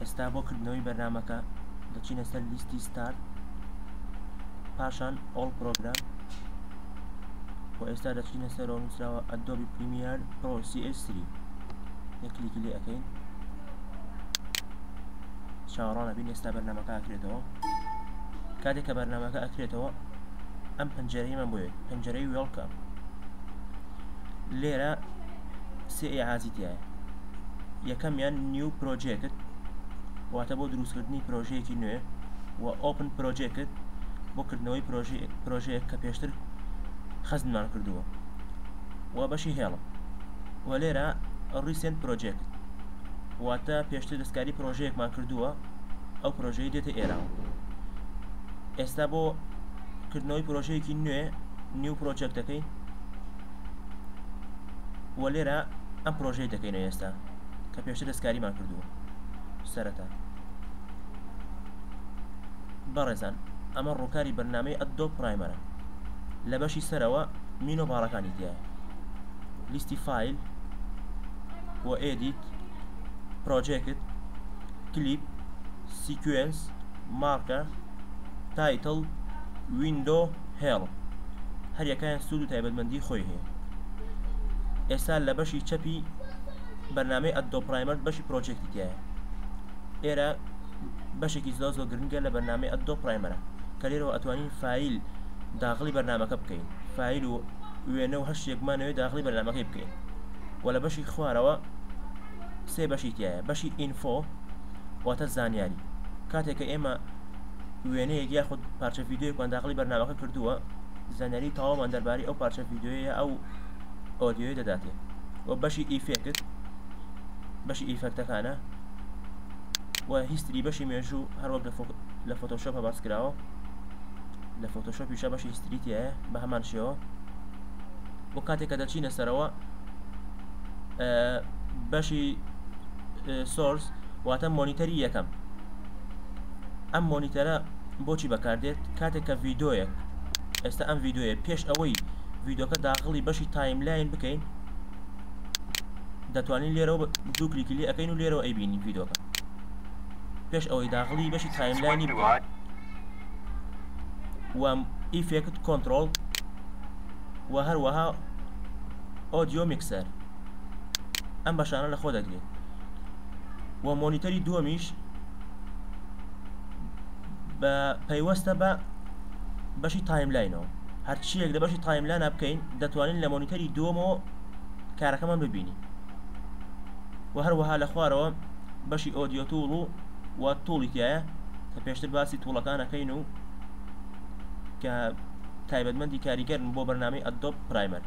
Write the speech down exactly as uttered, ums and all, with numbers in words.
ئێستا بۆ کردنەوەی بەرنامەکە دەچینە سەر لیستی Start، پاشان All Program و ئێستا دەچینە سەرەوە نووسراوە Adobe Premiere Pro C S three. یەک کلیکی لێ ئەەکەین، چاوەڕوانە بین. ئێستا بەرنامەکە ئەکرێتەوە. کاتێک کە بەرنامەکە ئەکرێتەوە، ئەم پەنجەرەیمان بۆیێت، پەنجەرەی Welcome. لێرە سێ ئیعازی تایە. یەکەمیان New Project، واتە بۆ دروستکردنی پرۆژەیەکی نوێ، و Open Project بۆ کردنەوەی پرۆژەیەک کە پێشتر خەزنمان کردووە، و بەشی Help. و لێرە Recent Project، واتە پێشتر دەستکاری پرۆژەیەکمان کردووە، ئەو پرۆژەی دێتە ئێرەوە. ئێستا بۆ کردنەوەی پرۆژەیەکی نوێ New Project دەکەین و لێرە ئەم پرۆژەی دەکەینەوە ئێستا کە پێشتر دەستکاریمان کردووە سەرەتا. بەڕێزان، ئەمە ڕووکاری بەرنامەی Adobe Premiere ە. لە بەشی سەرەوە menu bar ەکانی تایە، لیستی File و Edit، Project، Clip، Sequence، Marker، Title، Window، Help. هەریەکەیان سوود و تایبەتمەندی خۆی هەیە. ئێستا لە بەشی چەپی بەرنامەی Adobe Premiere بەشی Project ی تایە. ئێرە بەشێکی زۆر زۆر گرنگە لە بەرنامەی Adobe Premiere ە کە لێرەوە ئەتوانین فایل داخلی بەرنامەکە بکەین، فایل و وێنە و هەر شتێکمانەوێت داخلی بەرنامەکەی بکەین. و لە بەشی خوارەوە سێ بەشی تایە. بەشی Info واتە زانیاری. کاتێک کە ئێمە وێنەیەک یاخود پارچە ڤیدیۆیەکمان داخلی بەرنامەکە کردووە، زانیاری تەواومان دەربارەی ئەو پارچە ڤیدیۆیە ئەو ئۆدیۆی دەداتێ. و بەشی Effect بەشی effect ەکانە، و History بەشی مێژوو، هەروەک لە فۆتۆشۆپە باس کراوە. لە فۆتۆشۆپیشە بەشی History تایە بە هەمان شێوە. بۆ کاتێک کە دەچینە سەرەوە بەشی Source واتە monitor ی یەکەم. ئەم monitor ە بۆچی بەکاردێت؟ کاتێک کە ڤیدۆیەک، ئێستا ئەم ڤیدۆیە، پێش ئەوەی ڤیدۆکە داخلی بەشی timeline بکەین، دەتوانین لێرەوە دوو کلیکی لێ ئەەکەین و لێرەوە ئەیبینین ڤیدۆکە پێش ئەوەی داخلی بەشی timeline ی بکەین. و Effect Control و هەروەها Audio Mixer ئەم بەشانە لە خۆ دەگرێت. و monitor ی دووەمیش بە پەیوەستە بە بەشی timeline ەوە. هەرچیەک لە بەشی timeline ە بکەین، دەتوانین لە monitor ی دووەمەوە کارەکەمان ببینین. و هەروەها لە خوارەوە بەشی Audio Tool و و Tool ی تایە کە پێشتر باسی tool ەکانەکەین و کە تایبەتمەندی کاریگەرن بۆ بەرنامەی Adobe Premiere.